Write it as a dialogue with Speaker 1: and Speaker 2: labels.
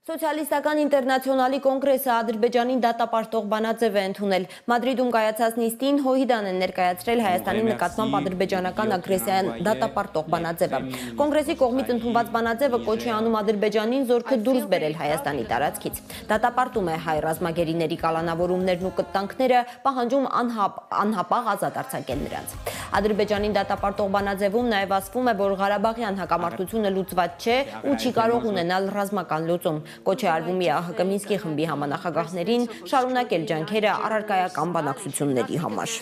Speaker 1: Սոցիալիստական ինտերնացիոնալի կոնգրեսը Ադրբեջանին դատապարտող բանաձև է ընդունել։ Մադրիդում կայացած նիստին Հոհիդան են ներկայացրել Հայաստանի նկատմամբ ադրբեջանական ագրեսիան դատապարտող բանաձևը։ Կոնգրեսի կողմից ընդունված բանաձևը կոչ է անում Ադրբեջանին զորքը դուրս բերել Հայաստանի տարածքից։ Դատապարտում է հայ ռազմագերիների կալանավորումներն ու կտանքները, պահանջում անհապաղ ազատ արձակել նրանց։ Ադրբեջանին դատապարտող բանաձևում նաև ասվում է, որ Ղարաբաղյան հակամարտությունը լուծված չէ ու չի կարող ունենալ ռազմական լուծում։ Կոչ է արվում ԵԱՀԿ Մինսկի խմբի համանախագահներին շարունակել ջանքերը առարկայական բանակցությունների համար։